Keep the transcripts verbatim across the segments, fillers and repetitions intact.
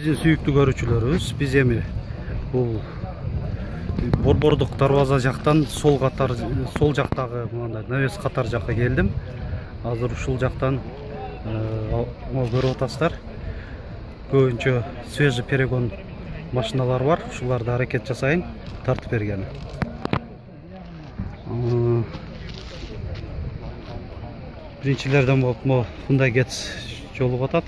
Биздин сүйүктүү көрүүчүлөрүбүз, биз эми бул Борбордук дарбаза жактан сол катар, сол жактагы мындай навес катар жакка келдим. Азыр ушул жактан көрүп атасыздар. Көбүнчө свежий перегон машиналар бар. Ушуларды аракет жасайын тартып бергени. Биринчилерден болуп мо Hyundai Getz жолугуп атат.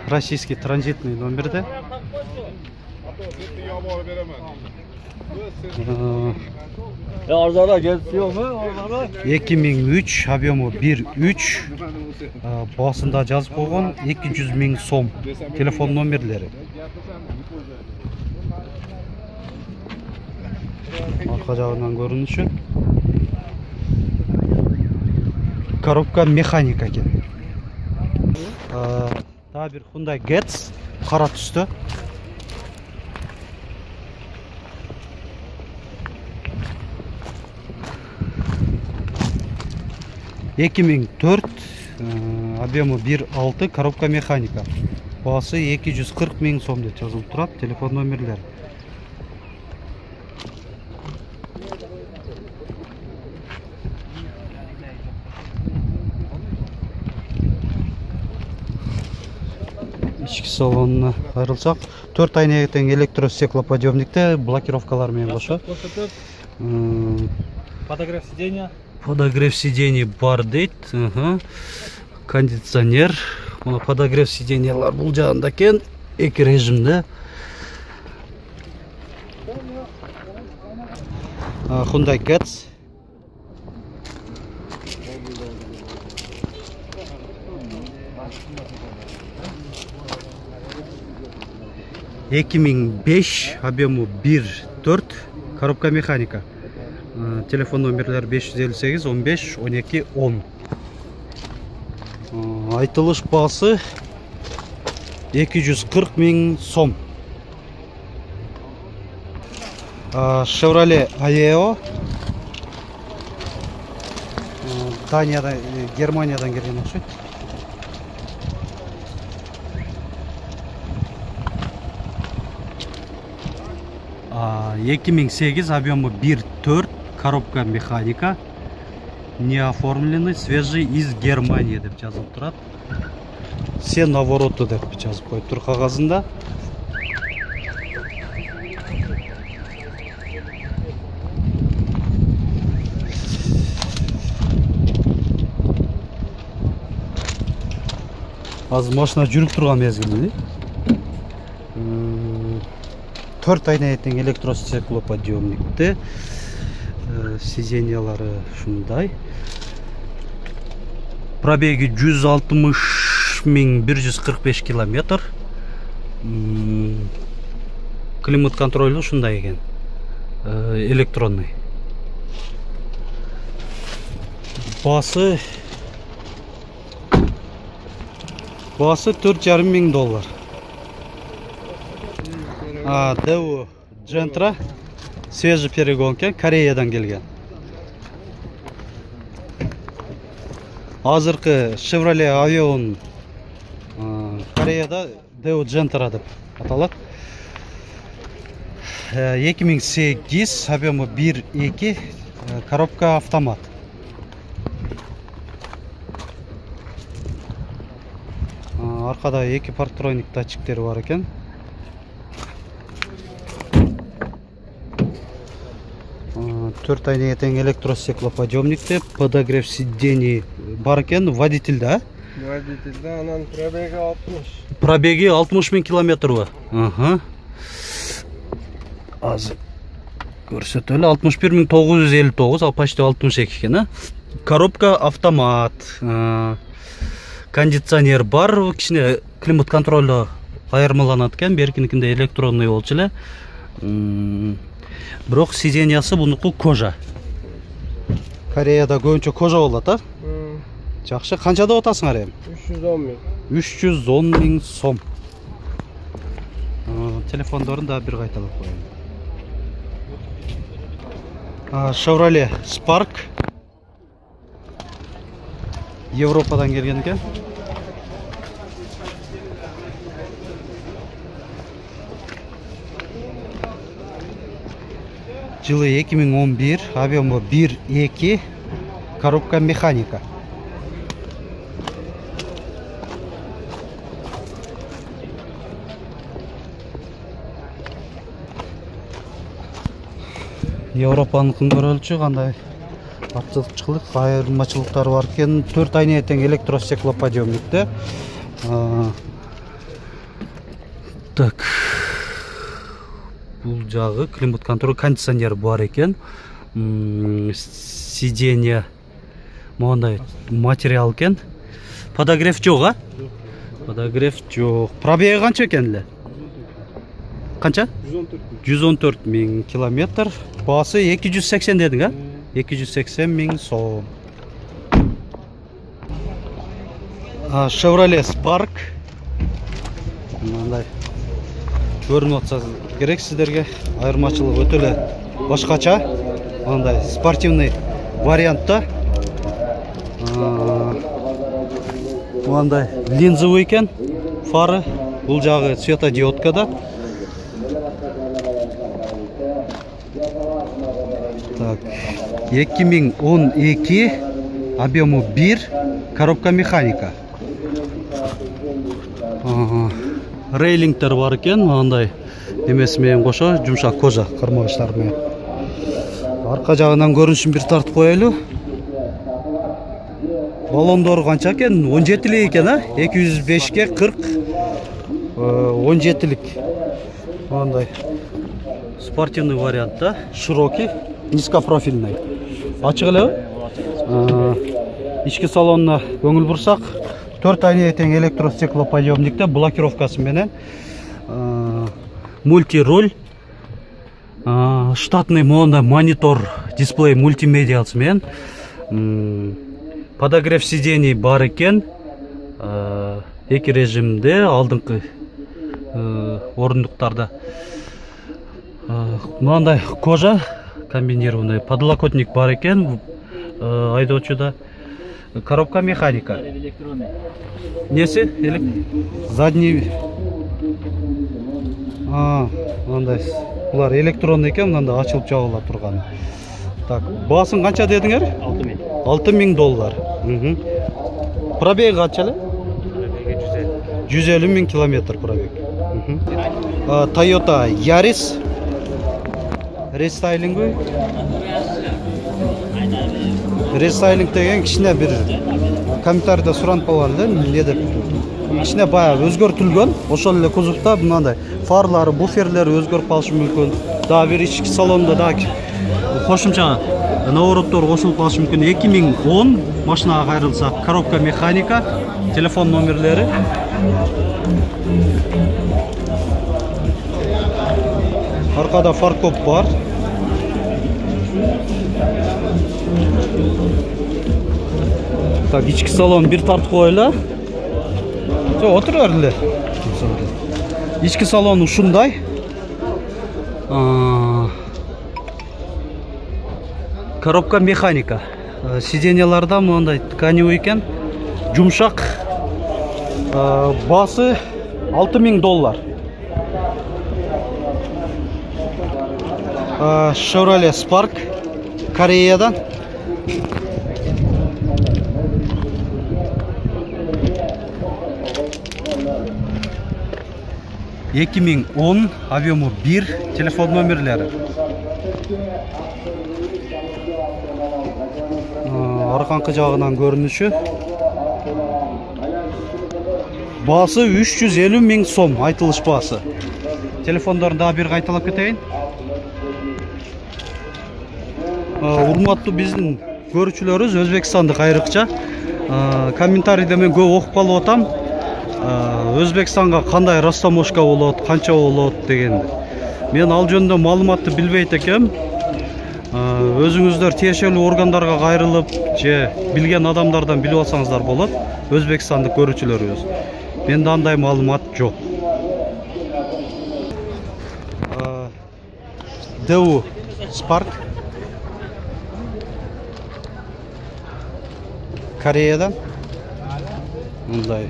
Российский транзитный номерде. эки миң үч, объему бир үч, басында жазып койгон эки жүз миң сом телефон номерлери. Арка жагынан көрүнүшү. Коробка механика экен. Дагы бир Hyundai Getz кара түстө. эки миң төрт, объему бир алты, коробка механика. Баасы эки жүз кырк миң сом деп жазылып турат, телефон номерлери. Ички салонуна айрылсак, төрт айнеге тең электростеклоподъемникте, блокировкалар менен кошо. Подогрев сиденья. Подогрев сидений бар дейт. Кондиционер. Мына подогрев сиденьялар бул жагында экен, эки режимде. Hyundai Getz. эки миң беш, объему бир төрт, коробка механика. Телефон номерлер беш жүз элүү сегиз, он беш, он эки, он. Айтылыш баасы эки жүз кырк миң сом. Chevrolet Aveo. Даниядан, Германиядан келген окшойт. эки миң сегиз, объему бир төрт, коробка механика. Не оформленный, свежий из Германии деп жазылып турат. Все навороты деп жазып коюп тур кагазында. Азыр машина жүрүп турган мезгилде. төрт айнеге тең электростеклоподъемникте. Сиденьялары шундай. Пробеги жүз алтымыш миң бир жүз кырк беш километр. Климат контролю шундай экен. Электронный. Басы Басы төрт жарым миң доллар. А, Devo Gentra свежий перегон экен, Кореядан келген. Азыркы Chevrolet Aveo Кореяда Devo Gentra деп аталат. эки миң сегиз, объему бир эки, коробка автомат. Аркада эки парктроник датчиктери бар экен. төрт айнеге тең электростеклоподъемникте, подогрев сидений бар экен, водитель да? Водитель да, анан пробеги алтымыш. Пробеги алтымыш миң километрбы? Ага. Азыр көрсөтөлү, алтымыш бир миң тогуз жүз элүү тогуз, ал почти алтымыш эки экен, а? Коробка автомат. Кондиционер бар, кичине климат контролу айырмаланат экен, беркиникинде электронный болчу эле. Бирок сиденьясы бунуку кожа. Кореяда көбүнчө кожа болот, а? Жакшы, канча деп атасыңар эми? үч жүз он миң. үч жүз он миң сом. Телефондорун да бир кайталап коеюн. Chevrolet Spark. Европадан келген экен. Жылы эки миң он бир, объему бир эки, коробка механика. Европанын күнгөрөлчү кандай артыкчылык, айырмачылыктары бар экен. төрт айнеге тең электростеклоподъемникте. Так. Бул жагы климат контроль, кондиционер бар экен. Сиденье мондай материал экен. Подогрев жок, а? Подогрев жок. Пробеги канча экен эле? Канча? жүз он төрт миң километр. Баасы эки жүз сексен дедиң, а? эки жүз сексен миң сом. Chevrolet Spark. Мындай көрүнүп атса керек сиздерге. Айырмачылыгы өтө эле башкача. Мындай спортивный вариантта. Мындай линзовый экен. Фары. Бул жагы светодиодкада. Так, эки миң он эки, объему бир, коробка механика. Рейлингтер бар экен, мындай эмеси менен кошо, жумшак кожа кармагычтар менен. Арка жагынан көрүнүшүн бир тартып коелу. Баллондору канча экен? он жетилик экен, а? эки жүз бешке кырк, он жетилик. Мындай спортивный вариантта, широкий. Низкопрофильный. Ачык эле. Ички салонуна көңүл бурсак, төрт айнеге тең электростеклоподъемникте блокировкасы менен, мультируль, штатный монда монитор, дисплей мультимедиасы менен, подогрев сидений бар экен. Эки режимде, алдыңкы орундуктарда. Мындай кожа комбинированный, подлокотник бар экен, айдоочуда. Коробка механика. Неси? Задний. А, мындай. Булар электронный экен, мында ачылып жабыла турган. Так, баасын канча дедиңер? алты миң. алты миң доллар. Пробеги канча эле? жүз элүү миң километр пробег. Toyota Yaris. Рестайлинг. Рестайлинг деген кичине бир комментарийде суранып калган эле, эмне деп. Кичине баягы өзгөртүлгөн, ошол эле кузовда мындай фарлары, буферлери өзгөрүп калышы мүмкүн. Дагы бир ички салонда дагы кошумча навороттор кошулуп калышы мүмкүн. эки миң он машинага кайрылсак, коробка механика, телефон номерлери. Аркада фаркоп бар. Так, ички салон бир тартып коелу. Жок, отура берле. Ички салон ушундай. Коробка механика. Сиденьяларда мындай тканевый экен. Жумшак. Баасы алты миң доллар. Chevrolet Spark Кореядан. эки миң он, объему бир, телефон номерлери. Арканкы жагынан көрүнүшү. Баасы үч жүз элүү миң сом, айтылыш баасы. Телефондорун дагы бир кайталап кетейин. Урматтуу биздин көрүүчүлөрүбүз, Өзбекстандык айрыкча комментарийде мен көп окуп калып атам. Өзбекстанга кандай растаможка болот, канча болот дегенди. Мен ал жөнүндө маалыматты билбейт экем. Өзүңүздөр тиешелүү органдарга кайрылып, же билген адамдардан билип алсаңыздар болот. Өзбекстандык көрүүчүлөрүбүз. Менде андай маалымат жок. Daewoo Spark Кореядан. Мындай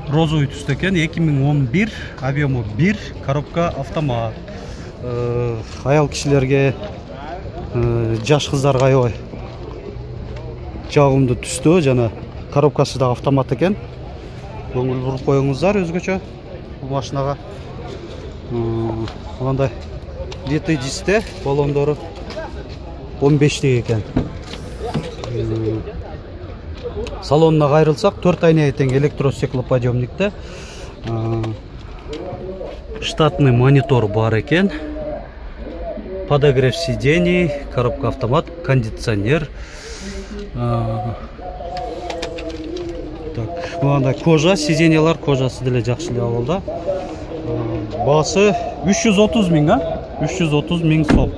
розовый түстө экен, эки миң он бир, объему бир, коробка автомат. аял кишилерге, жаш кыздарга аябай жагымдуу түстө. Жана коробкасы да автомат экен. Көңүл буруп коюңуздар өзгөчө бул машинага. Мындай литый дисте, баллондору он бештик экен. Салонуна кайрылсак, төрт айнеге тең электростеклоподъемникте. Штатный монитор бар экен. Подогрев сидений, коробка автомат, кондиционер. Так, мындай кожа, сиденьялар кожасы деле жакшы эле абалда. Баасы үч жүз отуз миң, а? үч жүз отуз миң сом.